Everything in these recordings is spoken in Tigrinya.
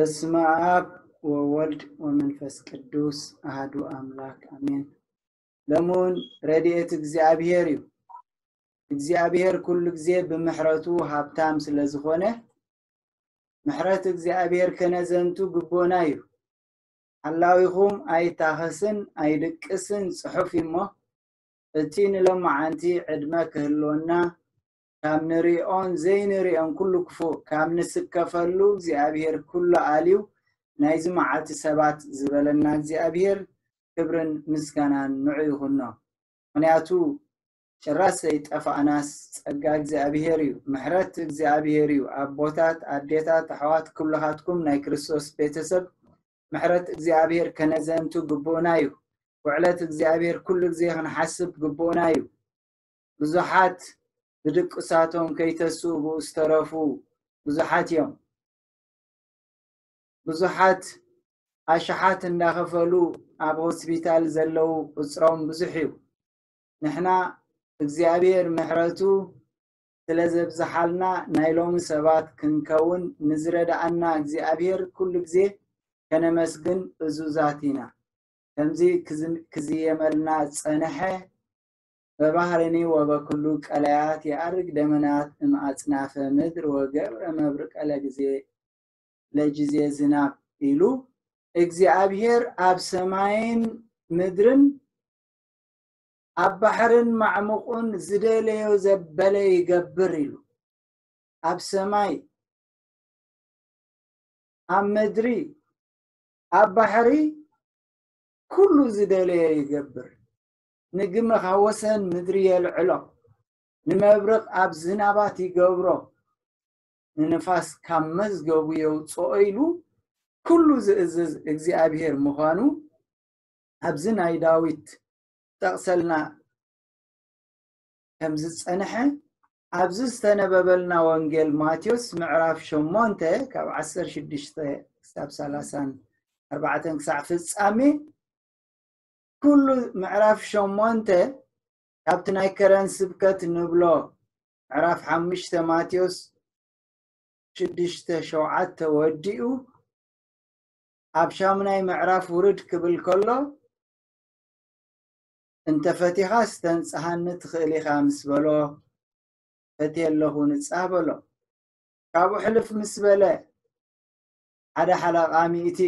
በስመ አብ ወወልድ ወመንፈስ ቅዱስ አሐዱ አምላክ አሜን። ለሙን ረድኤት እግዚኣብሔር እዩ። እግዚኣብሔር ኩሉ ግዜ ብምሕረቱ ሃብታም ስለ ዝኾነ፣ ምሕረት እግዚኣብሔር ከነዘንቱ ግቦና እዩ። ሓላዊኹም ኣይታኸስን ኣይድቅስን ጽሑፍ እሞ፣ እቲ ንሎማዓንቲ ዕድመ ክህልወና፣ ካብ ንሪኦን ዘይንሪኦን ኩሉ ክፉእ ካብ ንስከፈሉ እግዚኣብሔር ኩሉ ኣልዩ ናይዚ መዓልቲ ሰባት ዝበለና እግዚኣብሔር ክብርን ምስጋናን ንዑ ይኹኖ። ምኽንያቱ ጭራስ ዘይጠፋእናስ ጸጋ እግዚኣብሔር እዩ፣ ምሕረት እግዚኣብሔር እዩ። ኣቦታት፣ ኣዴታት፣ ኣሕዋት፣ ኩልኻትኩም ናይ ክርስቶስ ቤተሰብ ምሕረት እግዚኣብሔር ከነዘንቱ ግቡእና እዩ። ውዕለት እግዚኣብሔር ኩሉ ግዜ ክንሓስብ ግቡእና እዩ። ብዙሓት ብድቅሳቶም ከይተስኡ ብኡ ዝተረፉ ብዙሓት እዮም። ብዙሓት ኣሽሓት እንዳኸፈሉ ኣብ ሆስፒታል ዘለዉ ቁጽሮም ብዙሕ እዩ። ንሕና እግዚኣብሔር ምሕረቱ ስለ ዘብዝሓልና ናይ ሎሚ ሰባት ክንከውን ንዝረድኣና እግዚኣብሔር ኩሉ ግዜ ከነመስግን እዙዛት ኢና። ከምዚ ክዝ-፣ ክዝየመልና ዝጸንሐ በባህርኒ ወበኩሉ ቀላያት የዐርግ ደመናት እምኣጽናፈ ምድር ወገብረ መብርቀ ለጊዜ ለጊዜ ዝናብ ኢሉ እግዚኣብሔር ኣብ ሰማይን ምድርን ኣብ ባሕርን ማዕሙቑን ዝደለዮ ዘበለ ይገብር ኢሉ። ኣብ ሰማይ፣ ኣብ ምድሪ፣ ኣብ ባሕሪ ኩሉ ዝደለዮ ይገብር። ንግመ ካብ ወሰን ምድሪ የልዕሎ፣ ንመብርቕ ኣብ ዝናባት ይገብሮ፣ ንንፋስ ካብ መዝገቡ የውፅኦ ኢሉ ኩሉ ዝእዝዝ እግዚኣብሔር ምዃኑ ኣብዚ ናይ ዳዊት ጠቕሰልና ከም ዝጸንሐ ኣብዚ ዝተነበበልና ወንጌል ማቴዎስ ምዕራፍ ሸሞንተ ካብ ዓሰርተ ሽዱሽተ ክሳብ ሰላሳን ኣርባዕተን ክሳዕ ፍጻሜ ኩሉ ምዕራፍ ሸሞንተ ካብቲ ናይ ከረን ስብከት ንብሎ ምዕራፍ ሓሙሽተ ማቴዎስ ሽዱሽተ ሸውዓተ ወዲኡ ኣብ ሻሙናይ ምዕራፍ ውርድ ክብል ከሎ፣ "እንተ ፈቲኻስ ተንጽሃኒ ትኽእል ኢኻ" ምስ በሎ፣ "ፈትየ ኣለኹ ንጻህ" በሎ። ካብኡ ሕልፍ ምስ በለ፣ ሓደ ሓለቓ ሚእቲ፣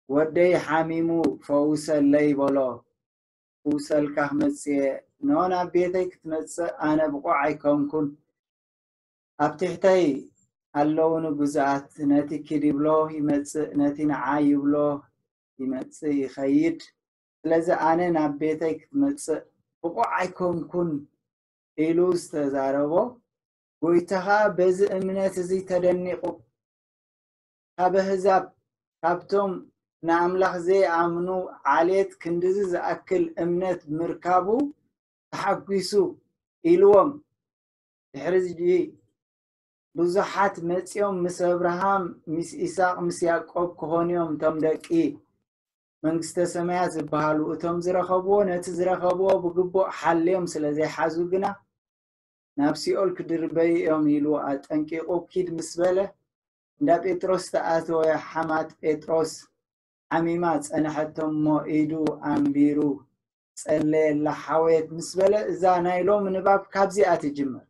"ወደይ ሓሚሙ ፈውሰለይ" በሎ። "ክውሰልካ ክመጽእ እየ፣ ኖ ናብ ቤተይ ክትመጽእ ኣነ ብቑዕ ኣይኮንኩን። ኣብ ትሕተይ ኣለውኒ ግዙኣት፣ ነቲ ኪድ ይብሎ ይመጽእ፣ ነቲ ንዓ ይብሎ ይመጽእ ይኸይድ። ስለዚ ኣነ ናብ ቤተይ ክትመጽእ ብቑዕ ኣይኮንኩን" ኢሉ ዝተዛረቦ፣ ጎይታ ኸኣ በዚ እምነት እዚ ተደኒቑ፣ ካብ ኣህዛብ፣ ካብቶም ንኣምላኽ ዘይኣምኑ ዓሌት ክንድዚ ዝኣክል እምነት ምርካቡ ተሓጒሱ ኢልዎም። ድሕሪ እዚ ብዙሓት መጺኦም ምስ ኣብርሃም፣ ምስ ይስሐቅ፣ ምስ ያዕቆብ ክኾኑ እዮም፣ እቶም ደቂ መንግስተ ሰማያት ዝበሃሉ። እቶም ዝረኸብዎ፣ ነቲ ዝረኸብዎ ብግቡእ ሓልዮም ስለ ዘይሓዙ ግና፣ ናብ ሲኦል ክድርበዩ እዮም ኢሉ ኣጠንቂቑ ኪድ ምስ በለ፣ እንዳ ጴጥሮስ ተኣተወ። ሓማት ጴጥሮስ ሓሚማ ጸንሐቶ እሞ ኢዱ ኣንቢሩ፣ "ጸለየላ ሓወየት" ምስ በለ፣ እዛ ናይ ሎሚ ንባብ ካብዚኣ ትጅምር።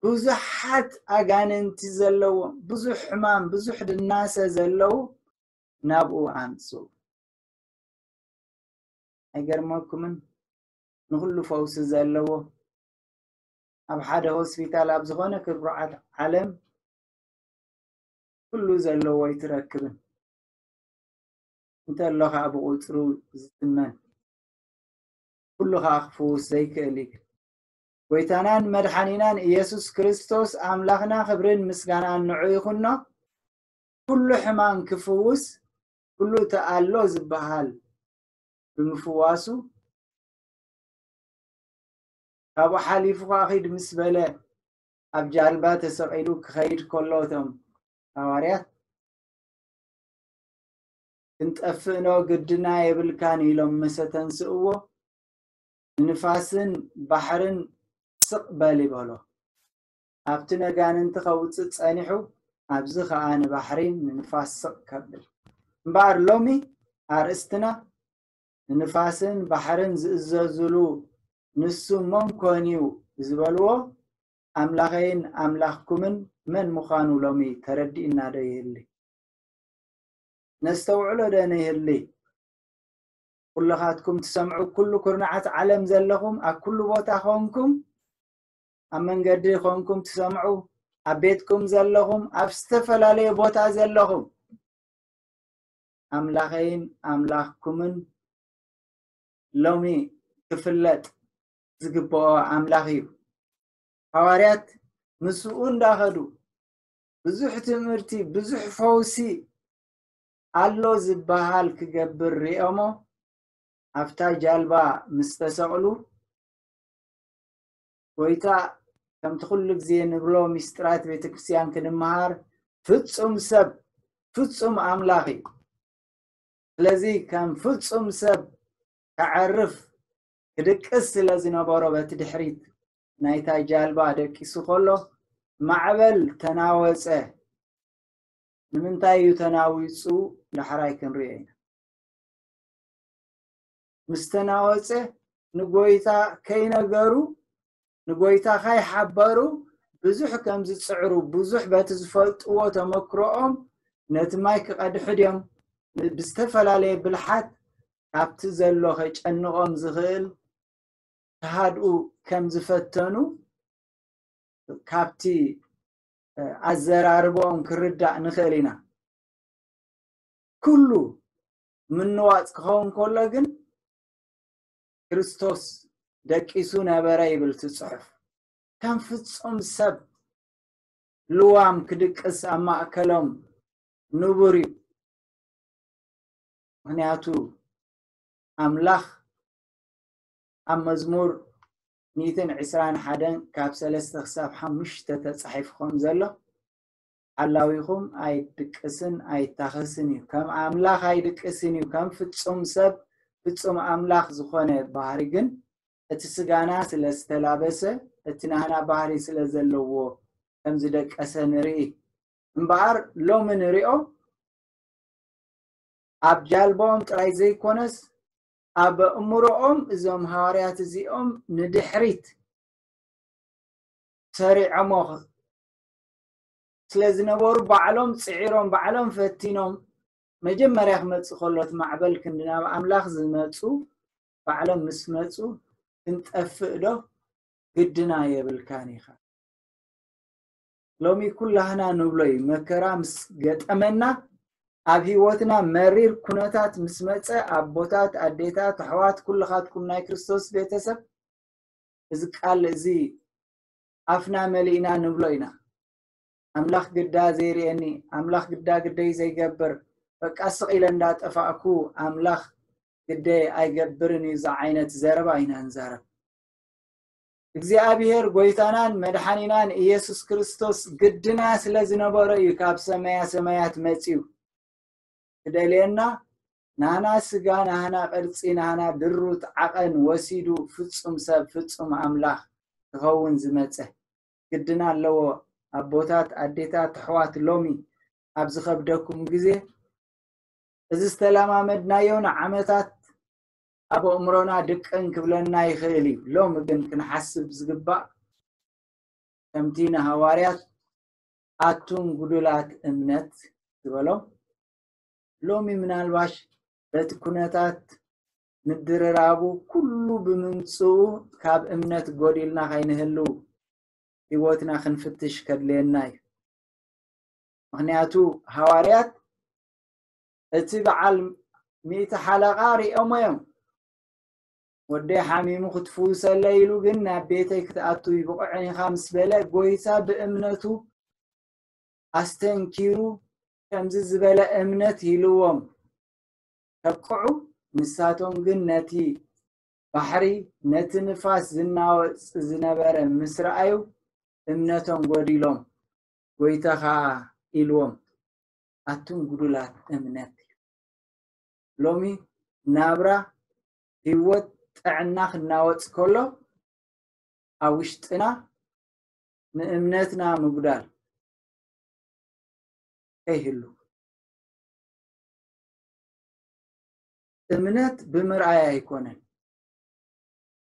ብዙሓት ኣጋንንቲ ዘለዎም፣ ብዙሕ ሕማም፣ ብዙሕ ድናሰ ዘለዉ ናብኡ ኣምጽኡ። ኣይገርመኩምን? ንኹሉ ፈውሲ ዘለዎ፣ ኣብ ሓደ ሆስፒታል፣ ኣብ ዝኾነ ክርብዓት ዓለም ኩሉ ዘለዎ ኣይትረክብን። እንተሎ ኸኣ ብቑጽሩ ዝትመን፣ ኩሉ ኸኣ ክፍውስ ዘይክእል እዩ። ጎይታናን መድሓኒናን ኢየሱስ ክርስቶስ ኣምላኽና ክብርን ምስጋናን ንዑ ይኹኖ። ኩሉ ሕማም ክፍውስ፣ ኩሉ ተኣሎ ዝበሃል ብምፍዋሱ፣ ካብኡ ሓሊፉ ኸኣ ኺድ ምስ በለ፣ ኣብ ጃልባ ተሰቒሉ ክኸይድ ከሎ፣ እቶም ሃዋርያት፣ "ክንጠፍእ ኖ ግድና የብልካን" ኢሎም ምስ ኣተንስእዎ፣ ንንፋስን ባሕርን "ስቕ በል" ይበሎ። ኣብቲ ነጋንንቲ ከውጽእ ጸኒሑ፣ ኣብዚ ኸኣ ንባሕሪን ንንፋስ ስቕ ከብል። እምበኣር ሎሚ ኣርእስትና ንንፋስን ባሕርን ዝእዘዙሉ ንሱ መን ኮን እዩ ዝበልዎ ኣምላኸይን ኣምላኽኩምን መን ምዃኑ ሎሚ ተረዲእና ዶ ይህሊ? ነስተውዕሎ ዶ ንህሊ? ኩልኻትኩም ትሰምዑ፣ ኩሉ ኩርናዓት ዓለም ዘለኹም፣ ኣብ ኩሉ ቦታ ኾንኩም፣ ኣብ መንገዲ ኾንኩም ትሰምዑ፣ ኣብ ቤትኩም ዘለኹም፣ ኣብ ዝተፈላለየ ቦታ ዘለኹም፣ ኣምላኸይን ኣምላኽኩምን ሎሚ ክፍለጥ ዝግብኦ ኣምላኽ እዩ። ሃዋርያት ምስኡ እንዳኸዱ ብዙሕ ትምህርቲ፣ ብዙሕ ፈውሲ ኣሎ ዝበሃል ክገብር ሪኦሞ ኣብታ ጃልባ ምስ ተሰቕሉ፣ ጎይታ ከምቲ ኩሉ ግዜ ንብሎ ሚስጥራት ቤተክርስትያን ክንምሃር ፍጹም ሰብ ፍጹም ኣምላኽ እዩ። ስለዚ ከም ፍጹም ሰብ ከዕርፍ ክድቅስ ስለ ዝነበሮ በቲ ድሕሪት ናይታ ጃልባ ደቂሱ ከሎ ማዕበል ተናወጸ። ንምንታይ እዩ ተናዊጹ? ዳሕራይ ክንሪኦ ኢና። ምስ ተናወጸ ንጎይታ ከይነገሩ፣ ንጎይታ ከይሓበሩ ብዙሕ ከም ዝጽዕሩ፣ ብዙሕ በቲ ዝፈልጥዎ ተመክሮኦም ነቲ ማይ ክቐድሑ ድዮም ብዝተፈላለየ ብልሓት ካብቲ ዘሎ ከጨንቖም ዝኽእል ክሃድኡ ከም ዝፈተኑ ካብቲ ኣዘራርባኦም ክርዳእ ንኽእል ኢና። ኩሉ ምንዋጽ ክኸውን ከሎ ግን ክርስቶስ ደቂሱ ነበረ ይብል እቲ ጽሑፍ። ከም ፍጹም ሰብ ልዋም ክድቅስ ኣብ ማእከሎም ንቡር እዩ። ምኽንያቱ ኣምላኽ ኣብ መዝሙር ሚእትን ዕስራን ሓደን ካብ ሰለስተ ክሳብ ሓሙሽተ ተጻሒፉ ከም ዘሎ ሓላዊኹም ኣይድቅስን ኣይታኸስን እዩ። ከም ኣምላኽ ኣይድቅስን እዩ። ከም ፍጹም ሰብ ፍጹም ኣምላኽ ዝኾነ ባህሪ ግን እቲ ስጋና ስለ ዝተላበሰ እቲ ናህና ባህሪ ስለ ዘለዎ ከም ዝደቀሰ ንርኢ። እምበኣር ሎሚ ንሪኦ ኣብ ጃልባኦም ጥራይ ዘይኮነስ ኣብ እምሮኦም እዞም ሃዋርያት እዚኦም ንድሕሪት ሰሪዖሞ ስለ ዝነበሩ ባዕሎም ጽዒሮም ባዕሎም ፈቲኖም መጀመርያ ክመጽእ ከሎ እቲ ማዕበል ክንዲ ናብ ኣምላኽ ዝመጹ ባዕሎም ምስ መጹ ክንጠፍእ ዶ ግድና የብልካን ኢኻ። ሎሚ ኩላህና ንብሎ እዩ መከራ ምስ ገጠመና ኣብ ህይወትና መሪር ኩነታት ምስ መጸ ኣቦታት ኣዴታት ኣሕዋት ኩልኻትኩም ናይ ክርስቶስ ቤተሰብ እዚ ቃል እዚ ኣፍና መሊእና ንብሎ ኢና። ኣምላኽ ግዳ ዘይርእየኒ ኣምላኽ ግዳ ግደይ ዘይገብር በቃ ስቕ ኢለ እንዳጠፋእኩ ኣምላኽ ግደይ ኣይገብርን እዩ ዝዓይነት ዘረባ ኢና ንዛረብ። እግዚኣብሔር ጎይታናን መድሓኒናን ኢየሱስ ክርስቶስ ግድና ስለ ዝነበሮ እዩ ካብ ሰማያ ሰማያት መጺኡ ክደልየና ናህና ስጋ ናህና ቅርጺ ናህና ድሩት ዓቐን ወሲዱ ፍጹም ሰብ ፍጹም ኣምላኽ ክኸውን ዝመጸ ግድና ኣለዎ። ኣቦታት ኣዴታት ኣሕዋት ሎሚ ኣብ ዝኸብደኩም ግዜ እዚ ዝተለማመድናዮ ንዓመታት ኣብ ኣእምሮና ድቅን ክብለና ይኽእል እዩ። ሎሚ ግን ክንሓስብ ዝግባእ ከምቲ ንሃዋርያት ኣቱም ጉዱላት እምነት ዝበሎም ሎሚ ምናልባሽ በቲ ኩነታት ምድርራቡ ኩሉ ብምምፅኡ ካብ እምነት ጎዲልና ከይንህልው ህይወትና ክንፍትሽ ከድልየና እዩ። ምክንያቱ ሃዋርያት እቲ በዓል ሚእቲ ሓለቓ ሪኦሞ እዮም። ወደይ ሓሚሙ ክትፍውሰለይ ኢሉ ግን ናብ ቤተይ ክትኣቱ ይብቕዕን ኢኻ ምስ በለ ጎይታ ብእምነቱ ኣስተንኪሩ ከምዚ ዝበለ እምነት ይልዎም ተቅዑ። ንሳቶም ግን ነቲ ባሕሪ ነቲ ንፋስ ዝናወጽ ዝነበረ ምስ ረኣዩ እምነቶም ጎዲሎም ጎይታ ኸኣ ኢልዎም ኣቱም ጉዱላት እምነት። ሎሚ ናብራ ህይወት ጥዕና ክናወጽ ከሎ ኣብ ውሽጥና ንእምነትና ምጉዳል ከይህሉ። እምነት ብምርኣይ ኣይኮነን።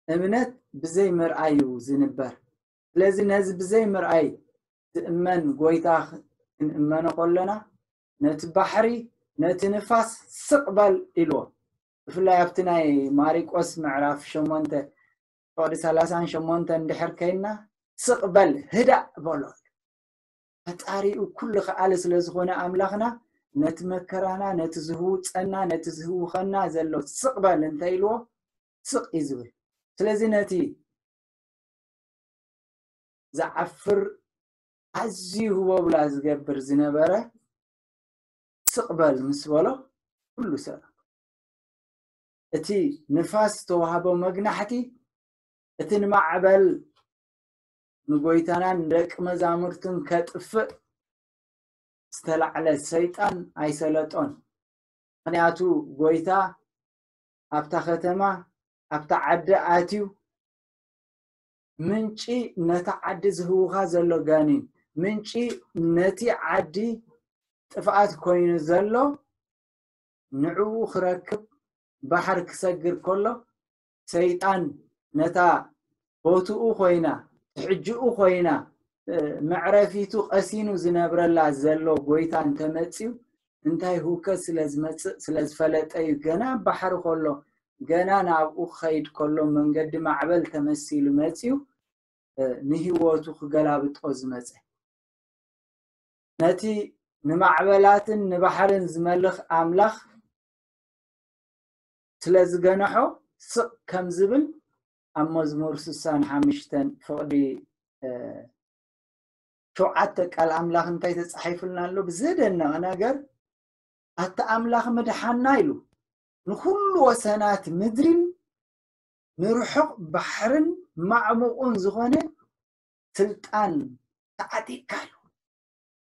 እምነት ብዘይ ምርኣይ እዩ ዝንበር። ስለዚ ነዚ ብዘይ ምርኣይ ዝእመን ጎይታ ክንእመኖ ከለና፣ ነቲ ባሕሪ፣ ነቲ ንፋስ ስቕ በል ኢልዎ። ብፍላይ ኣብቲ ናይ ማሪቆስ ምዕራፍ ሸሞንተ ፍቕዲ ሰላሳን ሸሞንተን እንድሕር ከይና፣ ስቕ በል፣ ህዳእ በሎ። ፈጣሪኡ ኩሉ ከኣለ ስለ ዝኾነ ኣምላኽና፣ ነቲ መከራና፣ ነቲ ዝህውጸና፣ ነቲ ዝህውኸና ዘሎ ስቕ በል እንተ ኢልዎ፣ ስቕ እዩ ዝብል። ስለዚ ነቲ ዝዓፍር ኣዝዩ ህቦብላ ዝገብር ዝነበረ ስቕ በል ምስ በሎ፣ ኩሉ ሰላም። እቲ ንፋስ ዝተዋህቦ መግናሕቲ፣ እቲ ንማዕበል ንጎይታናን ንደቂ መዛሙርቱን ከጥፍእ ዝተላዕለ ሰይጣን ኣይሰለጦን። ምኽንያቱ ጎይታ ኣብታ ከተማ፣ ኣብታ ዓዲ ኣትዩ፣ ምንጪ ነታ ዓዲ ዝህውኻ ዘሎ ጋኔን፣ ምንጪ ነቲ ዓዲ ጥፍኣት ኮይኑ ዘሎ ንዕኡ ክረክብ ባሕሪ ክሰግር ከሎ፣ ሰይጣን ነታ ቦትኡ ኮይና፣ ትሕጅኡ ኮይና፣ እ፣ መዕረፊቱ ቀሲኑ ዝነብረላ ዘሎ ጎይታ እንተመጽዩ፣ እንታይ ህውከት ስለ ዝመጽእ ስለ ዝፈለጠ እዩ። ገና ኣብ ባሕሪ ከሎ፣ ገና ናብኡ ክኸይድ ከሎ፣ መንገዲ ማዕበል ተመሲሉ መጽዩ፣ እ፣ ንህይወቱ ክገላብጦ ዝመጸ። ነቲ ንማዕበላትን ንባሕርን ዝመልኽ ኣምላኽ ስለ ዝገንሖ፣ ስቕ ከም ዝብል ኣብ መዝሙር ስሳን ሓሙሽተን ፍቕዲ፣ እ፣ ሸውዓተ ቃል ኣምላኽ እንታይ ተጻሒፉልና ኣሎ? ብዘደነቐ ነገር፣ ኣታ ኣምላኽ ምድሓና ኢሉ፣ ንኹሉ ወሰናት ምድርን ንርሑቕ ባሕርን ማዕሙቑን ዝኾነ ስልጣን ተዓጢቕካ ኢሉ።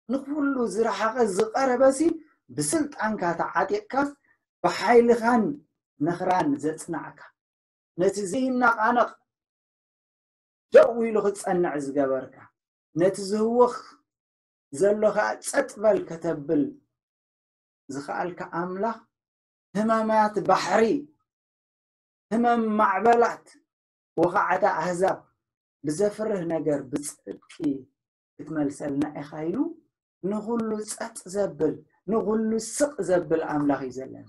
ንኹሉ ዝረሓቐ ዝቐረበሲ ብስልጣንካ ተዓጢቕካ፣ ብሓይልኻን ነኽራን ዘጽናዕካ፣ ነቲ ዘይነቓነቕ ደው ኢሉ ክጸንዕ ዝገበርካ፣ ነቲ ዝህወኽ ዘሎ ኸኣ ጸጥ በል ከተብል ዝኸኣልካ ኣምላኽ፣ ህመማት ባሕሪ፣ ህመም ማዕበላት፣ ወኻዕታ ኣህዛብ ብዘፍርህ ነገር ብጽድቂ ክትመልሰልና ኢኻ ኢሉ ንኹሉ ጸጥ ዘብል፣ ንኹሉ ስቕ ዘብል ኣምላኽ እዩ ዘለና።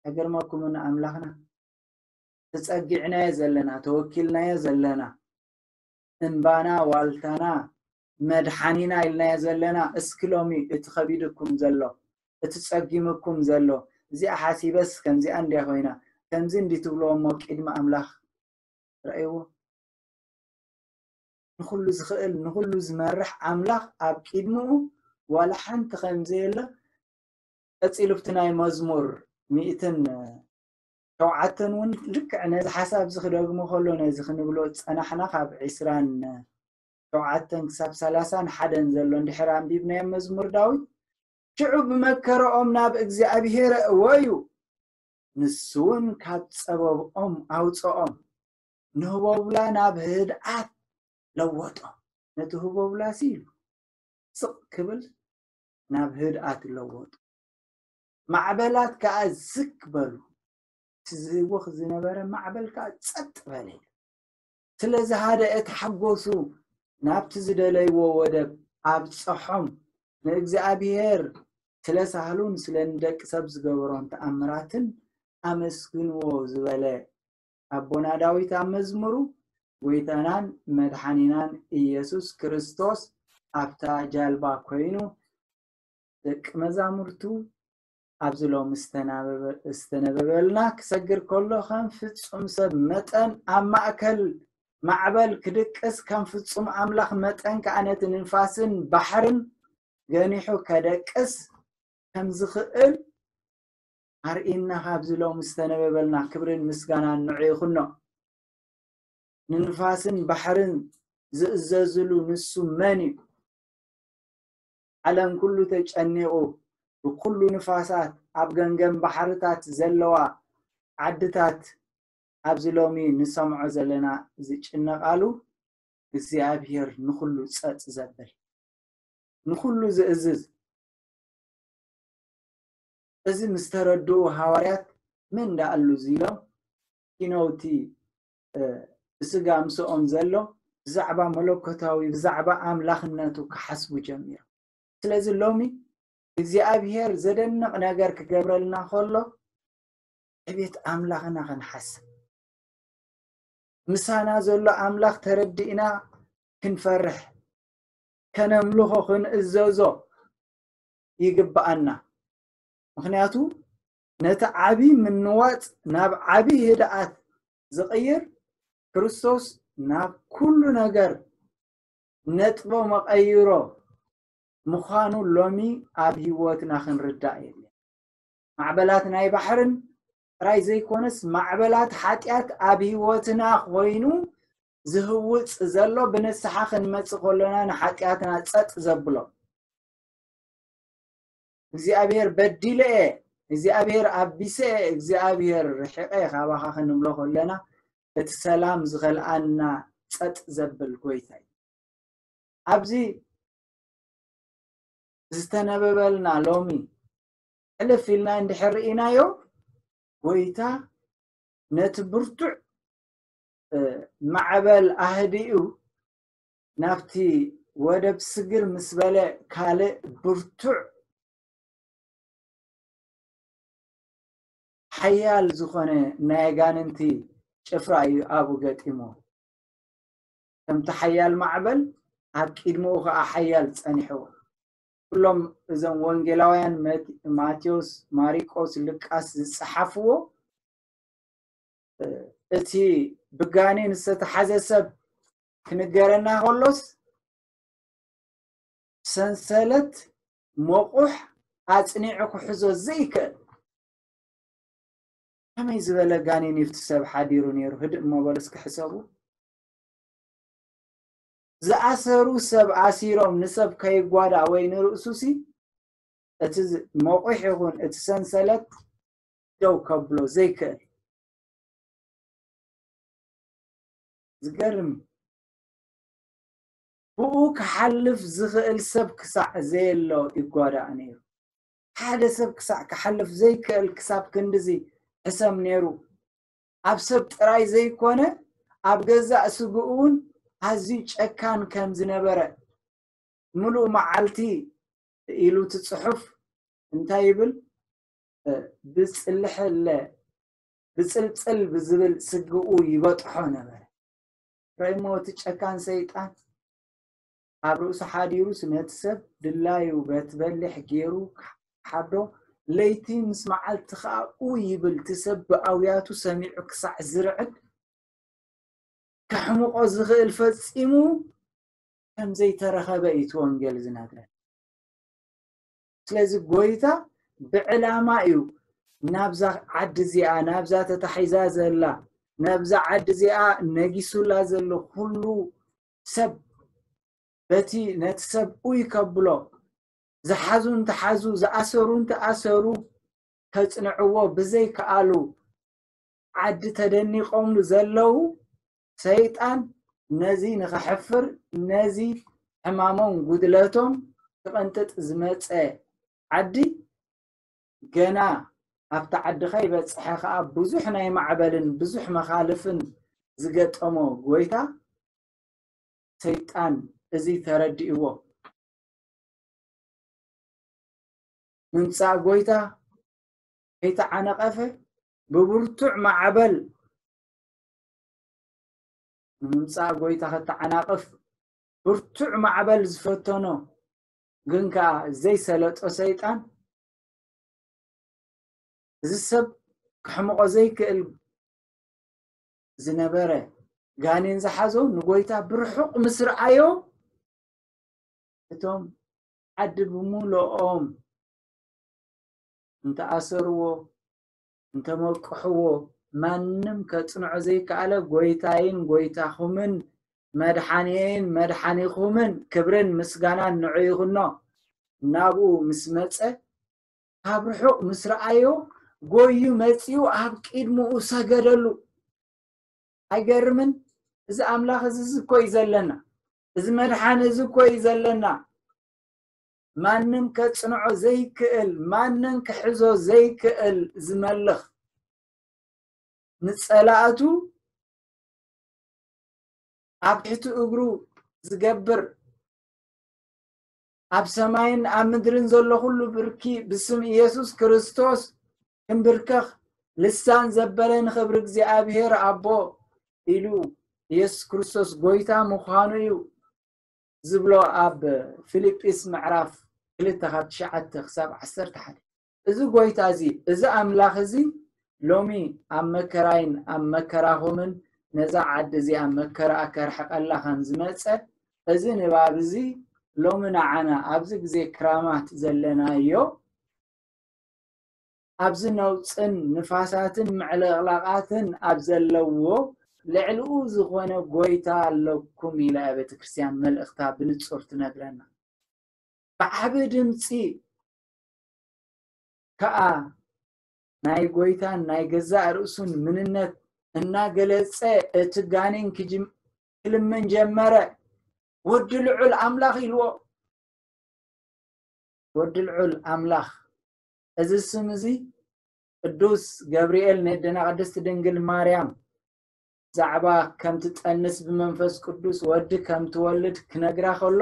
ኣይገርመኩምን? ኣምላኽና ተጸጊዕናዮ ዘለና፣ ተወኪልናዮ ዘለና፣ እምባና፣ ዋልታና፣ መድሓኒና ኢልናዮ ዘለና፣ እስኪ ሎሚ እቲ ከቢድኩም ዘሎ፣ እቲ ጸጊምኩም ዘሎ፣ እዚኣ ሓሲበስ ከምዚኣ እንድያ ኮይና፣ ከምዚ እንዲ ትብልዎ እሞ ቅድሚ ኣምላኽ ረኣይዎ። ንኹሉ ዝኽእል፣ ንኹሉ ዝመርሕ ኣምላኽ ኣብ ቅድሚኡ ዋላ ሓንቲ ከም ዘየለ፣ ቀጺሉ ኣብቲ ናይ መዝሙር ሚእትን ሸውዓተን እውን ልክዕ ነዚ ሓሳብ እዚ ክደግሞ ከሎ፣ ነዚ ክንብሎ ዝጸናሕና ካብ ዕስራን ሸውዓተን ክሳብ ሰላሳን ሓደን ዘሎ እንድሕር ኣንቢብናዮ መዝሙር ዳዊት፣ ሽዑ ብመከረኦም ናብ እግዚኣብሄር እወዩ፣ ንሱ እውን ካብ ጸበብኦም ኣውጽኦም፣ ንህቦብላ ናብ ህድኣት ለወጦ። ነቲ ህቦብላሲ ኢሉ ስቕ ክብል ናብ ህድኣት ለወጦ። ማዕበላት ከኣ ዝግ በሉ። እቲ ዝህወኽ ዝነበረ ማዕበል ከኣ ጸጥ በለ። ስለ ዝሃደአ ተሓጎሱ፣ ናብቲ ዝደለይዎ ወደብ ኣብጸሖም። ንእግዚኣብሔር ስለ ሳህሉን ስለ ንደቂ ሰብ ዝገበሮን ተኣምራትን ኣመስግንዎ ዝበለ ኣቦና ዳዊት ኣብ መዝሙሩ፣ ጎይታናን መድሓኒናን ኢየሱስ ክርስቶስ ኣብታ ጃልባ ኮይኑ ደቂ መዛሙርቱ ኣብዚ ሎሚ ዝተናበበ-፣ ዝተነበበልና ክሰግር ከሎ፣ ከም ፍጹም ሰብ መጠን ኣብ ማእከል ማዕበል ክድቅስ፣ ከም ፍጹም ኣምላኽ መጠን ከኣ ነቲ ንፋስን ባሕርን ገኒሑ ከደቅስ ከም ዝኽእል ኣርእየና። ካብዚ ሎሚ ዝተነበበልና ክብርን ምስጋናን ንዑ ይኹኖ። ንንፋስን ባሕርን ዝእዘዝሉ ንሱ መን እዩ? ዓለም ኩሉ ተጨኒቑ፣ ብኩሉ ንፋሳት ኣብ ገምገም ባሕርታት ዘለዋ ዓድታት ኣብዚ ሎሚ ንሰምዖ ዘለና ዝጭነቓሉ፣ እግዚኣብሔር ንኹሉ ጸጥ ዘብል፣ ንኹሉ ዝእዝዝ፣ እዚ ምስ ተረድኡ ሃዋርያት፣ "መን ደኣ ኣሉ እዚ?" ኢሎም፣ ኪነውቲ፣ እ፣ ብስጋ ምስኦም ዘሎ ብዛዕባ መለኮታዊ፣ ብዛዕባ ኣምላኽነቱ ክሓስቡ ጀሚሮም። ስለዚ ሎሚ እግዚኣብሔር ዘደንቕ ነገር ክገብረልና ከሎ፣ ዕቤት ኣምላኽና ክንሓስብ፣ ምሳና ዘሎ ኣምላኽ ተረዲእና ክንፈርሕ፣ ከነምልኾ፣ ክንእዘዞ ይግብኣና። ምኽንያቱ ነቲ ዓቢ ምንዋጽ ናብ ዓቢ ህድኣት ዝቕይር ክርስቶስ ናብ ኩሉ ነገር ነጥቦ መቐይሮ ምዃኑ ሎሚ ኣብ ህይወትና ክንርዳእ የድልየና። ማዕበላት ናይ ባሕርን ጥራይ ዘይኮነስ፣ ማዕበላት ሓጢኣት ኣብ ህይወትና ኮይኑ ዝህውጽ ዘሎ፣ ብንስሓ ክንመጽእ ከሎና ንሓጢኣትና ጸጥ ዘብሎ፣ እግዚኣብሔር በዲለ እየ፣ እግዚኣብሔር ኣቢሰ እየ፣ እግዚኣብሔር ርሒቐ እየ ካባኻ ክንብሎ ከለና፣ እቲ ሰላም ዝኸልኣና ጸጥ ዘብል ጎይታ እዩ። ኣብዚ ዝተነበበልና ሎሚ ሕልፍ ኢልና እንድሕር ርኢናዮ፣ ጎይታ ነቲ ብርቱዕ፣ እ፣ ማዕበል ኣህዲኡ ናብቲ ወደብ ስግር ምስ በለ፣ ካልእ ብርቱዕ ሓያል ዝኾነ ናይ ኣጋንንቲ ጭፍራ እዩ ኣብኡ ገጢሞ። ከምቲ ሓያል ማዕበል ኣብ ቅድሚኡ ኸኣ ሓያል ጸኒሕዎ። ኩሎም እዞም ወንጌላውያን መት-፣ ማቴዎስ፣ ማሪቆስ፣ ሉቃስ ዝጸሓፍዎ፣ እ፣ እቲ ብጋኔን ዝተታሕዘ ሰብ ክንገረና ከሎስ፣ ሰንሰለት መቑሕ ኣጽኒዑ ክሕዞ ዘይክእል፣ ከመይ ዝበለ ጋኔን እዩ እቲ ሰብ ሓዲሩ ነይሩ? ህድእ እሞ በሉ እስኪ ሕሰቡ። ዝኣሰሩ ሰብ ኣሲሮም ንሰብ ከይጓዳእ ወይ ንርእሱሲ፣ እቲ ዝ-፣ መቑሕ ይኹን እቲ ሰንሰለት ደው ከብሎ ዘይክእል። ዝገርም። ብኡ ክሓልፍ ዝኽእል ሰብ ክሳዕ ዘየሎ ይጓዳእ ነይሩ። ሓደ ሰብ ክሳዕ ክሓልፍ ዘይክእል ክሳብ ክንድዚ ሕሰም ነይሩ። ኣብ ሰብ ጥራይ ዘይኮነ፣ ኣብ ገዛእ ስግኡ እውን ኣዝዩ ጨካን ከም ዝነበረ፣ ምሉእ መዓልቲ ኢሉ እቲ ጽሑፍ እንታይ ይብል? እ፣ ብጽልሕለ፣ ብጽልጽል ብዝብል ስግኡ ይበጥሖ ነበረ። ርእይሞ እቲ ጨካን ሰይጣን ኣብ ርእሱ ሓዲሩስ ነቲ ሰብ ድላዩ በቲ በሊሕ ገይሩ ክሓዶ፣ ለይቲ ምስ መዓልቲ ኸኣ ኡይ ይብል፣ እቲ ሰብ ብኣውያቱ ሰሚዑ ክሳዕ ዝርዕድ፣ ከሕምቖ ዝኽእል ፈጺሙ ከም ዘይተረኸበ እዩ እቲ ወንጌል ዝነግረን። ስለዚ ጎይታ ብዕላማ እዩ ናብዛ ዓዲ እዚኣ፣ ናብዛ ተታሒዛ ዘላ፣ ናብዛ ዓዲ እዚኣ ነጊሱላ ዘሎ ኩሉ ሰብ፣ በቲ ነቲ ሰብ ኡይ ከብሎ፣ ዝሓዙ እንተሓዙ፣ ዝኣሰሩ እንተኣሰሩ፣ ከጽንዕዎ ብዘይከኣሉ ዓዲ ተደኒቖምሉ ዘለዉ፣ ሰይጣን ነዚ ንኸሕፍር፣ ነዚ ሕማሞም ጉድለቶም ክቕንጥጥ ዝመጸ ዓዲ፣ ገና ኣብቲ ዓዲ ከይበጽሐ ከኣ ብዙሕ ናይ ማዕበልን ብዙሕ መኻልፍን ዝገጠሞ ጎይታ፣ ሰይጣን እዚ ተረዲእዎ፣ ምምጻእ ጎይታ ከይተዓነቐፈ፣ ብብርቱዕ ማዕበል ንምምጻእ ጎይታ ከተዓናቕፍ ብርቱዕ ማዕበል ዝፈተኖ፣ ግን ከኣ ዘይሰለጦ ሰይጣን፣ እዚ ሰብ ከሕምቖ ዘይክእል ዝነበረ ጋኔን ዝሓዞ ንጎይታ ብርሑቕ ምስ ረኣዮ፣ እቶም ዓዲ ብምሉኦም እንተኣሰርዎ፣ እንተመቅሕዎ፣ ማንም ከጽንዖ ዘይከኣለ፣ ጎይታይን ጎይታኹምን መድሓንየይን መድሓኒኹምን፣ ክብርን ምስጋናን ንዑ ይኹኖ፣ ናብኡ ምስ መጸ፣ ካብ ርሑቕ ምስ ረኣዮ፣ ጎዩ መጺኡ ኣብ ቅድሚኡ ሰገደሉ። ኣይገርምን? እዚ ኣምላኽ እዚ፣ እዚ እኮ እዩ ዘለና። እዚ መድሓኒ እዚ እኮ እዩ ዘለና። ማንም ከጽንዖ ዘይክእል፣ ማንም ክሕዞ ዘይክእል ዝመልኽ፣ ንጸላእቱ ኣብ ትሕቲ እግሩ ዝገብር፣ ኣብ ሰማይን ኣብ ምድርን ዘሎ ኩሉ ብርኪ ብስም ኢየሱስ ክርስቶስ ክንብርከኽ፣ ልሳን ዘበለ ንኽብሪ እግዚኣብሔር ኣቦ ኢሉ ኢየሱስ ክርስቶስ ጎይታ ምዃኑ እዩ ዝብሎ ኣብ ፊልጵስ ምዕራፍ ክልተ ካብ ትሽዓተ ክሳብ ዓሰርተ ሓደ። እዚ ጎይታ እዚ፣ እዚ ኣምላኽ እዚ ሎሚ ኣብ መከራይን ኣብ መከራኹምን ነዛ ዓዲ እዚኣ መከራኣ ከርሕቐላ ከም ዝመጸ፣ እዚ ንባብ እዚ ሎሚ ንዓና ኣብዚ ግዜ ክራማት ዘለናዮ፣ ኣብዚ ነውጽን ንፋሳትን ምዕልቕላቓትን ኣብ ዘለዎ ልዕሊኡ ዝኾነ ጎይታ ኣለኩም ኢላ እያ ቤተ ክርስቲያን መልእኽታ ብንጹር ትነግረና። ብዓቢ ድምጺ ከኣ ናይ ጎይታን ናይ ገዛእ ርእሱን ምንነት እናገለጸ እቲ ጋኔን ክጅም-፣ ክልምን ጀመረ። "ወዲ ልዑል ኣምላኽ" ኢልዎ። ወዲ ልዑል ኣምላኽ። እዚ ስም እዚ ቅዱስ ገብርኤል ነደና ቅድስት ድንግል ማርያም ብዛዕባ ከም ትጠንስ ብመንፈስ ቅዱስ ወዲ ከም ትወልድ ክነግራ ከሎ፣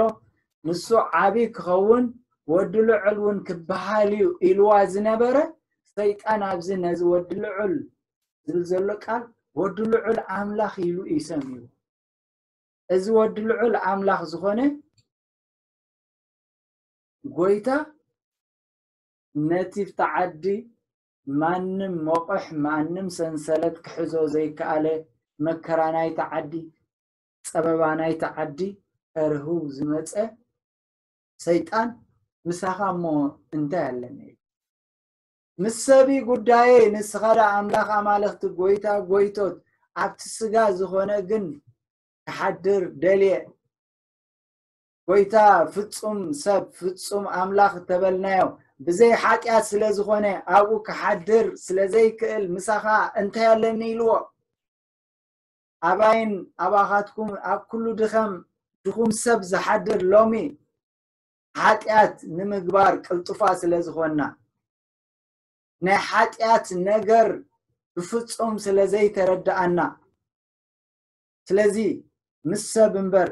ንሱ ዓቢ ክኸውን ወዲ ልዑል እውን ክበሃል እዩ ኢልዋ ዝነበረ ሰይጣን፣ ኣብዚ ነዚ ወዲ ልዑል ዝብል ዘሎ ቃል ወዲ ልዑል ኣምላኽ ኢሉ እዩ ሰሚዩ። እዚ ወዲ ልዑል ኣምላኽ ዝኾነ ጎይታ ነቲ ኣብቲ ዓዲ ማንም መቑሕ፣ ማንም ሰንሰለት ክሕዞ ዘይከኣለ፣ መከራ ናይቲ ዓዲ፣ ጸበባ ናይቲ ዓዲ ከርህው ዝመጸ ሰይጣን፣ "ምሳኻ እሞ እንታይ ኣለኒ?" ምስ ሰብ'ዩ ጉዳየይ፣ ንስኻ ደኣ ኣምላኽ ኣማልኽቲ፣ ጎይታ ጎይቶት፣ ኣብቲ ስጋ ዝኾነ ግን ክሓድር ደልየ። ጎይታ ፍጹም ሰብ፣ ፍጹም ኣምላኽ እተበልናዮ፣ ብዘይ ሓጢኣት ስለ ዝኾነ፣ ኣብኡ ክሓድር ስለ ዘይክእል፣ ምሳኻ እንታይ ኣለኒ ኢልዎ። ኣባይን ኣባኻትኩም ኣብ ኩሉ ድኸም፣ ድኹም ሰብ ዝሓድር ሎሚ ሓጢኣት ንምግባር ቅልጡፋ ስለ ዝኾንና፣ ናይ ሓጢኣት ነገር ብፍጹም ስለ ዘይተረድኣና፣ ስለዚ ምስ ሰብ እምበር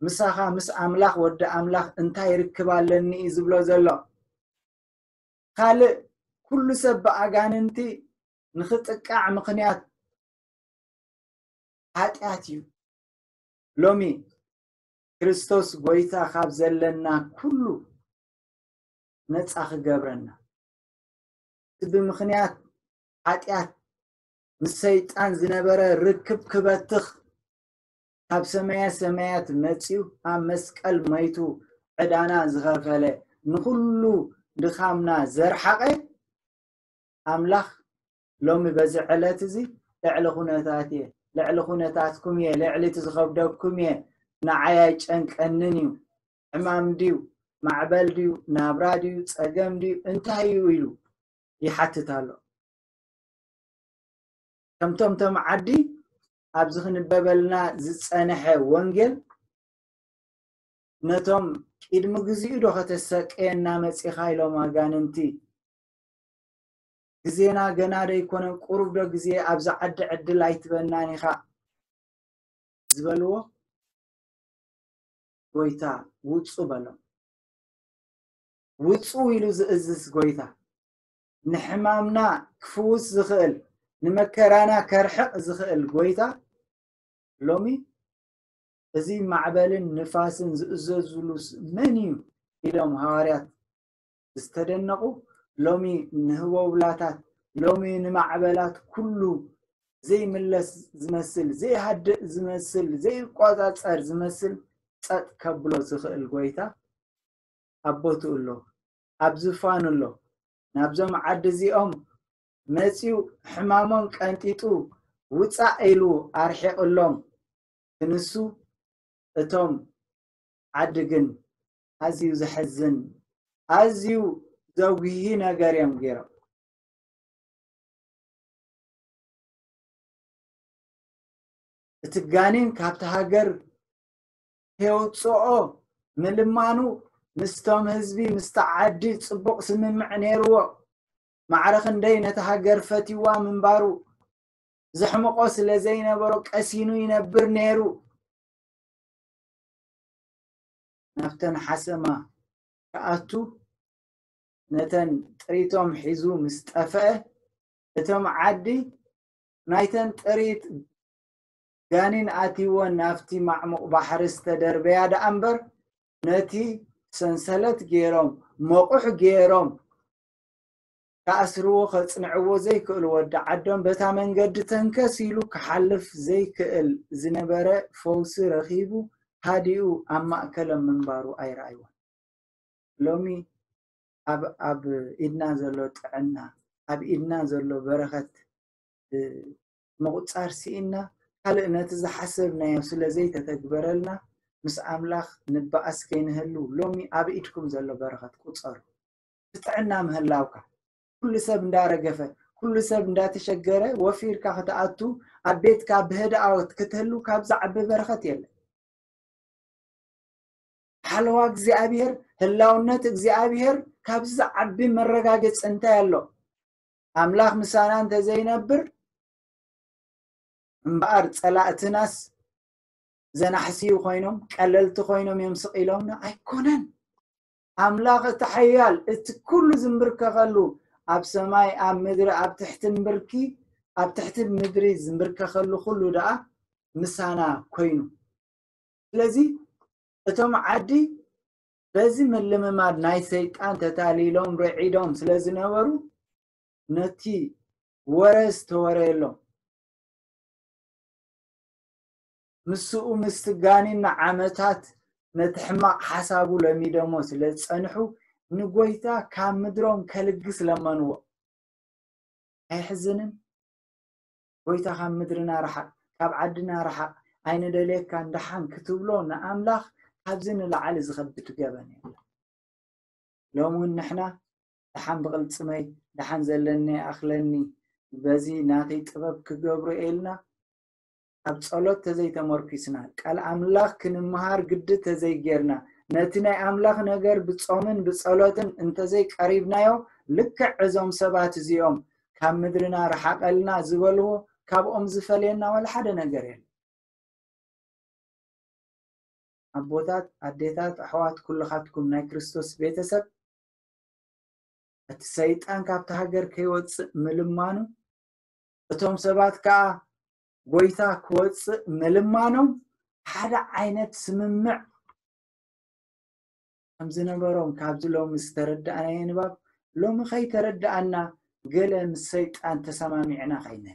ምሳኻ ምስ ኣምላኽ ወዲ ኣምላኽ እንታይ ርክብ ኣለኒ እዩ ዝብሎ ዘሎ። ካልእ ኩሉ ሰብ ብኣጋንንቲ ንኽጥቃዕ ምኽንያት ሓጢኣት እዩ። ሎሚ ክርስቶስ ጎይታ ካብ ዘለና ኩሉ ነጻ ክገብረና፣ እቲ ብምኽንያት ሓጢኣት ምስ ሰይጣን ዝነበረ ርክብ ክበትኽ፣ ካብ ሰማየ ሰማያት መጺኡ ኣብ መስቀል መይቱ ዕዳና ዝኸፈለ፣ ንኹሉ ድኻምና ዘርሓቐ ኣምላኽ ሎሚ በዚ ዕለት እዚ ልዕሊ ኩነታት እየ፣ ልዕሊ ኩነታትኩም እየ፣ ልዕሊ እቲ ዝኸብደኩም እየ፣ ንዓይ ኣይጨንቀንን እዩ። ሕማም ድዩ? ማዕበል ድዩ? ናብራ ድዩ? ጸገም ድዩ? እንታይ እዩ? ኢሉ ይሓትት ኣሎ። ከምቶም ቶም ዓዲ ኣብዚ ክንበበልና ዝጸንሐ ወንጌል፣ ነቶም ቅድሚ ግዚኡ ዶ ከተሰቅየና መጺኻ ኢሎም ኣጋንንቲ፣ ግዜና ገና ዶ ኣይኮነን፣ ቁሩብ ዶ ግዜ ኣብዚ ዓዲ ዕድል ኣይትበናን ኢኻ ዝበልዎ፣ ጎይታ ውጹ በሎም። ውጹ ኢሉ ዝእዝዝ ጎይታ፣ ንሕማምና ክፍውስ ዝኽእል፣ ንመከራና ከርሕቕ ዝኽእል ጎይታ፣ ሎሚ እዚ ማዕበልን ንፋስን ዝእዘዙሉስ መን እዩ? ኢሎም ሃዋርያት ዝተደነቑ፣ ሎሚ ንህቦብላታት፣ ሎሚ ንማዕበላት ኩሉ ዘይምለስ ዝመስል፣ ዘይሃድእ ዝመስል፣ ዘይቋጻጸር ዝመስል ጸጥ ከብሎ ዝኽእል ጎይታ ኣብ ቦትኡ ኣሎ፣ ኣብ ዝፋኑ ኣሎ። ናብዞም ዓዲ እዚኦም መጺኡ ሕማሞም ቀንጢጡ ውጻእ ኢሉ ኣርሒቕሎም ክንሱ፣ እቶም ዓዲ ግን ኣዝዩ ዘሕዝን፣ ኣዝዩ ዘጉሂ ነገር እዮም ገይሮም። እቲ ጋኔን ካብቲ ሃገር ከየውፅኦ ምልማኑ ምስቶም ህዝቢ፣ ምስቲ ዓዲ ጽቡቕ ስምምዕ ነይርዎ። ማዕረ ክንደይ ነቲ ሃገር ፈትይዋ ምንባሩ፣ ዘሕምቖ ስለ ዘይነበሮ ቀሲኑ ይነብር ነይሩ። ናብተን ሓሰማ ክኣቱ፣ ነተን ጥሪቶም ሒዙ ምስ ጠፍአ፣ እቶም ዓዲ ናይተን ጥሪት ጋኒን ኣትይወን ናብቲ ማዕሙቕ ባሕሪ ዝተደርበያ ደኣ እምበር፣ ነቲ ሰንሰለት ገይሮም፣ መቑሕ ገይሮም፣ ክኣስርዎ፣ ከጽንዕዎ ዘይክእሉ ወዲ ዓዶም፣ በታ መንገዲ ተንከስ ኢሉ ክሓልፍ ዘይክእል ዝነበረ ፈውሲ ረኺቡ፣ ሃዲኡ ኣብ ማእከሎም ምንባሩ ኣይረኣይዎን። ሎሚ ኣብ፣ ኣብ ኢድና ዘሎ ጥዕና፣ ኣብ ኢድና ዘሎ በረኸት፣ እ፣ ምቑጻር ስኢንና፣ ካልእ ነቲ ዝሓሰብናዮ ስለ ዘይተተግበረልና፣ ምስ ኣምላኽ ንበኣስ ከይንህሉ፣ ሎሚ ኣብ ኢድኩም ዘሎ በረኸት ቁጸሩ። ብጥዕና ምህላውካ፣ ኩሉ ሰብ እንዳረገፈ፣ ኩሉ ሰብ እንዳተሸገረ ወፊርካ ክትኣቱ፣ ኣብ ቤትካ ብህድኣት ክትህሉ ካብ ዝዓቢ በረኸት የለን። ሓለዋ እግዚኣብሔር፣ ህላውነት እግዚኣብሔር ካብዚ ዝዓቢ መረጋገጺ እንታይ ኣሎ? ኣምላኽ ምሳና እንተዘይነብር እምበኣር ጸላእትናስ ዘናሕስዩ ኮይኖም፣ ቀለልቲ ኮይኖም እዮም ስቕ ኢሎምና። ኣይኮነን። ኣምላኽ እቲ ሓያል፣ እቲ ኩሉ ዝንብርከኸሉ፣ ኣብ ሰማይ፣ ኣብ ምድሪ፣ ኣብ ትሕቲ ምብርኪ፣ ኣብ ትሕቲ ምድሪ ዝንብርከኸሉ ኩሉ ደኣ ምሳና ኮይኑ። ስለዚ እቶም ዓዲ በዚ ምልምማድ ናይ ሰይጣን ተታሊሎም ርዒዶም ስለ ዝነበሩ፣ ነቲ ወረ ዝተወረየሎም፣ ምስኡ ምስቲ ጋኒን ንዓመታት ነቲ ሕማቕ ሓሳቡ ለሚዶሞ ስለ ዝጸንሑ፣ ንጎይታ ካብ ምድሮም ከልግስ ለመንዎ። ኣየሕዝንን? ጎይታ፣ ካብ ምድርና ርሓቕ፣ ካብ ዓድና ርሓቕ፣ ኣይንደልየካን ደሓን ክትብሎ ንኣምላኽ ካብዚ ንላዕሊ ዝኸብድ ገበን የለን። ሎሚ እውን ንሕና ደሓን ብቕልጽመይ፣ ደሓን ዘለኒ ኣኽለኒ፣ በዚ ናተይ ጥበብ ክገብሮ ኢልና ኣብ ጸሎት ተዘይተመርኪስና፣ ቃል ኣምላኽ ክንምሃር ግዲ ተዘይጌርና፣ ነቲ ናይ ኣምላኽ ነገር ብጾምን ብጸሎትን እንተዘይቀሪብናዮ፣ ልክዕ እዞም ሰባት እዚኦም ካብ ምድርና ርሓቐልና ዝበልዎ፣ ካብኦም ዝፈልየና ዋላ ሓደ ነገር የለን። ኣቦታት፣ ኣዴታት፣ ኣሕዋት፣ ኩልኻትኩም ናይ ክርስቶስ ቤተሰብ፣ እቲ ሰይጣን ካብቲ ሃገር ከይወጽእ ምልማኑ፣ እቶም ሰባት ከኣ ጎይታ ክወጽእ ምልማኖም ሓደ ዓይነት ስምምዕ ከም ዝነበሮም ካብዚ ሎሚ ዝተረዳእናዮ ንባብ፣ ሎሚ ከይተረዳእና ገለ ምስ ሰይጣን ተሰማሚዕና ከይነ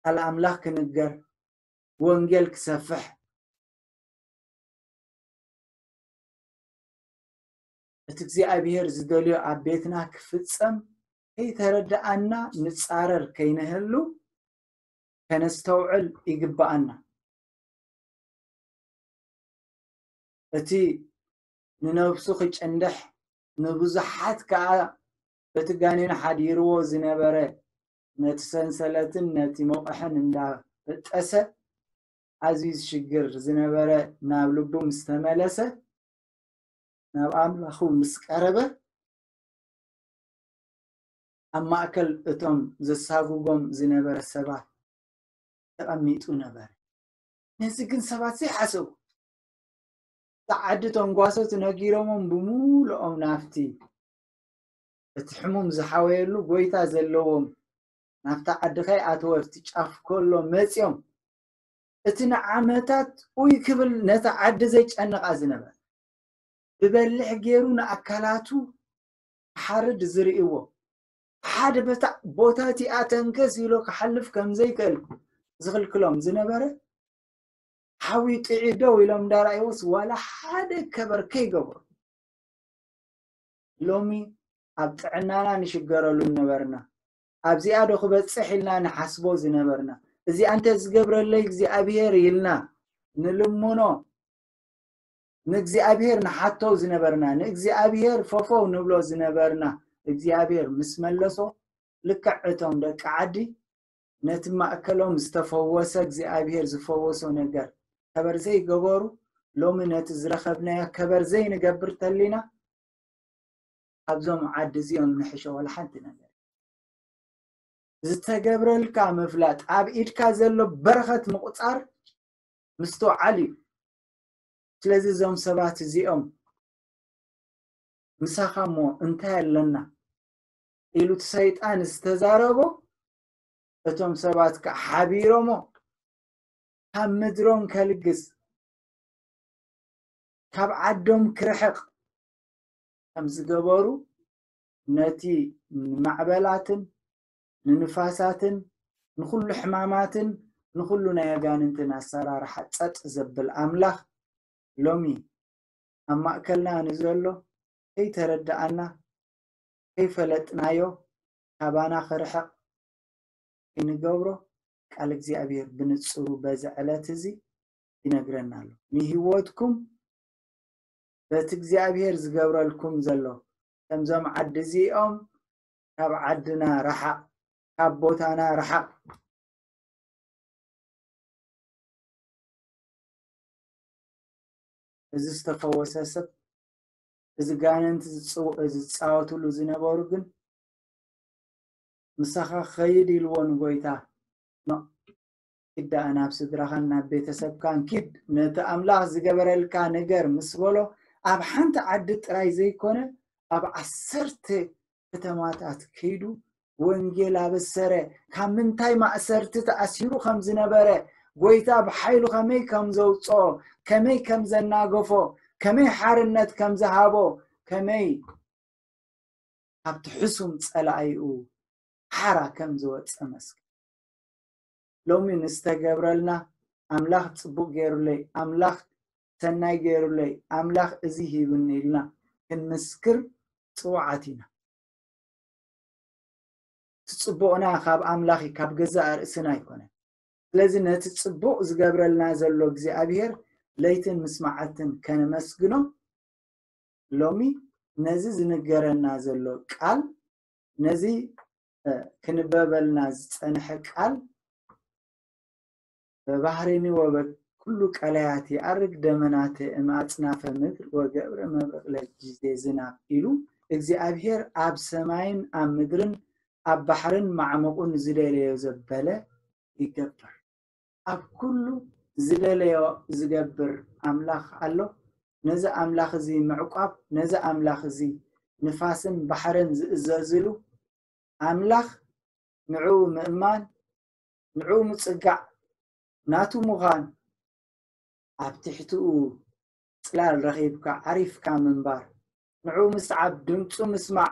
ቃል ኣምላኽ ክንገር፣ ወንጌል ክሰፍሕ፣ እቲ እግዚኣብሔር ዝደልዮ ኣብ ቤትና ክፍጸም ከይተረዳኣና ንጻረር ከይንህሉ ከነስተውዕል ይግባኣና። እቲ ንነብሱ ክጭንድሕ፣ ንብዙሓት ከኣ በቲ ጋኔን ሓዲርዎ ዝነበረ፣ ነቲ ሰንሰለትን ነቲ መቑሕን እንዳበጠሰ፣ ኣዝዩ ዝሽግር ዝነበረ ናብ ልቡ ምስ ተመለሰ፣ ናብ ኣምላኹ ምስ ቀረበ፣ ኣብ ማእከል እቶም ዘሳጉጎም ዝነበረ ሰባት ተቐሚጡ ነበረ። ነዚ ግን ሰባት ዘይሓሰቡ። እታ ዓዲ ተንጓሶት ነጊሮሞም ብምሉኦም ናብቲ እቲ ሕሙም ዝሓወየሉ ጎይታ ዘለዎም ናብታ ዓዲ ከይኣተወ ኣብቲ ጫፍ ከሎ መጺኦም። እቲ ንዓመታት ኡይ ክብል ነታ ዓዲ ዘጨንቓ ዝነበረ፣ ብበሊሕ ገይሩ ንኣካላቱ ክሓርድ ዝርእይዎ፣ ሓደ በታ ቦታ እቲኣ ተንከስ ኢሎ ክሓልፍ ከም ዘይክእል ዝኽልክሎም ዝነበረ፣ ሓዊ ጥዒ ደው ኢሎም እንዳረኣይዎስ ዋላ ሓደ ከበር ከይገበሩ። ሎሚ ኣብ ጥዕናና ንሽገረሉ ነበርና። ኣብዚኣ ዶ ክበጽሕ ኢልና ንሓስቦ ዝነበርና። እዚኣ እንተ ዝገብረለይ እግዚኣብሔር ኢልና ንልምኖ፣ ንእግዚኣብሔር ንሓቶ ዝነበርና፣ ንእግዚኣብሔር ፈፈው ንብሎ ዝነበርና፣ እግዚኣብሔር ምስ መለሶ፣ ልክዕ እቶም ደቂ ዓዲ ነቲ ማእከሎም ዝተፈወሰ እግዚኣብሔር ዝፈወሶ ነገር ከበር ዘይገበሩ፣ ሎሚ ነቲ ዝረኸብናዮ ከበር ዘይንገብር ተሊና፣ ኣብዞም ዓዲ እዚኦም ንሕሾ ወላ ሓንቲ ነገር። ዝተገብረልካ ምፍላጥ፣ ኣብ ኢድካ ዘሎ በረኸት ምቑጻር ምስትውዓል እዩ። ስለዚ እዞም ሰባት እዚኦም ምሳኻ እሞ እንታይ ኣለና ኢሉ እቲ ሰይጣን ዝተዛረቦ፣ እቶም ሰባት ከዓ ሓቢሮሞ ካብ ምድሮም ከልግስ፣ ካብ ዓዶም ክርሕቕ ከም ዝገበሩ፣ ነቲ ንማዕበላትን ንንፋሳትን ንኹሉ ሕማማትን ንኹሉ ናይ ኣጋንንትን ኣሰራርሓ ጸጥ ዘብል ኣምላኽ፣ ሎሚ ኣብ ማእከልና ንዘሎ ከይተረድኣና፣ ከይፈለጥናዮ፣ ካባና ክርሕቕ ክንገብሮ ቃል እግዚኣብሔር ብንጹሩ በዚ ዕለት እዚ ይነግረና ኣሎ። ንህይወትኩም በቲ እግዚኣብሔር ዝገብረልኩም ዘሎ፣ ከምዞም ዓዲ እዚኦም ካብ ዓድና ረሓቕ፣ ካብ ቦታና ረሓቕ። እዚ ዝተፈወሰ ሰብ፣ እዚ ጋንንቲ ዝጽው-፣ ዝጻወትሉ ዝነበሩ ግን፣ "ምሳኻ ክኸይድ?" ኢልዎ ንጎይታ። "ኖ፣ ኪድ ደኣ ናብ ስድራኻን ናብ ቤተሰብካን ኪድ፣ ነቲ ኣምላኽ ዝገበረልካ ንገር" ምስ በሎ፣ ኣብ ሓንቲ ዓዲ ጥራይ ዘይኮነ፣ ኣብ ዓሰርተ ከተማታት ከይዱ ወንጌል ኣበሰረ። ካብ ምንታይ ማእሰርቲ ተኣሲሩ ከም ዝነበረ፣ ጎይታ ብሓይሉ ከመይ ከም ዘውጽኦ፣ ከመይ ከም ዘናገፎ፣ ከመይ ሓርነት ከም ዝሃቦ፣ ከመይ ካብቲ ሕሱም ጸላኢኡ ሓራ ከም ዝወጸ መስክር። ሎሚ ንዝተገብረልና፣ ኣምላኽ ጽቡቕ ገይሩለይ፣ ኣምላኽ ሰናይ ገይሩለይ፣ ኣምላኽ እዚ ሂብኒ ኢልና ክንምስክር ጽዋዓት ኢና። እቲ ጽቡቕና ካብ ኣምላኽ እዩ፣ ካብ ገዛእ ርእስና ኣይኮነን። ስለዚ ነቲ ጽቡቕ ዝገብረልና ዘሎ እግዚኣብሔር ለይትን ምስ መዓልትን ከነመስግኖ፣ ሎሚ ነዚ ዝንገረና ዘሎ ቃል፣ ነዚ፣ እ፣ ክንበበልና ዝጸንሐ ቃል፣ "በባህሬኒ ወበኩሉ ቀላያት ይኣርግ ደመናተ እምኣጽናፈ ምድር ወገብረ መብረቕ ለጊዜ ዝናብ" ኢሉ፣ እግዚኣብሔር ኣብ ሰማይን ኣብ ምድርን ኣብ ባሕርን ማዕሙቑን ዝደለዮ ዘበለ ይገብር። ኣብ ኩሉ ዝደለዮ ዝገብር ኣምላኽ ኣሎ። ነዚ ኣምላኽ እዚ ምዕቋብ፣ ነዚ ኣምላኽ እዚ ንፋስን ባሕርን ዝእዘዝሉ ኣምላኽ፣ ንዕኡ ምእማን፣ ንዕኡ ምጽጋዕ፣ ናቱ ምዃን፣ ኣብ ትሕትኡ ጽላል ረኺብካ ዓሪፍካ ምንባር፣ ንዕኡ ምስዓብ፣ ድምጹ ምስማዕ፣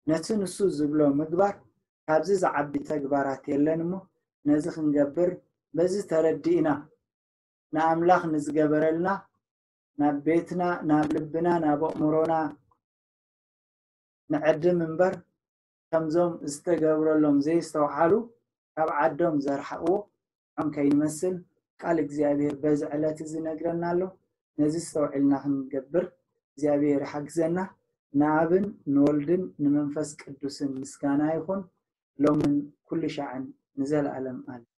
ነቲ ንሱ ዝብሎ ምግባር፣ ካብዚ ዝዓቢ ተግባራት የለን እሞ፣ ነዚ ክንገብር፣ በዚ ተረዲእና፣ ንኣምላኽ ንዝገበረልና፣ ናብ ቤትና፣ ናብ ልብና፣ ናብ ኣእምሮና ንዕድም እምበር፣ ከምዞም ዝተገብረሎም ዘየስተውዓሉ፣ ካብ ዓዶም ዘርሓቕዎ፣ ንዖም ከይንመስል ቃል እግዚኣብሔር በዚ ዕለት እዚ ይነግረና ኣሎ። ነዚ ኣስተውዒልና ክንገብር እግዚኣብሔር ይሓግዘና። ንኣብን ንወልድን ንመንፈስ ቅዱስን ምስጋና ይኹን፣ ሎምን ኩሉ ሻዕን ንዘለኣለም ኣሜን።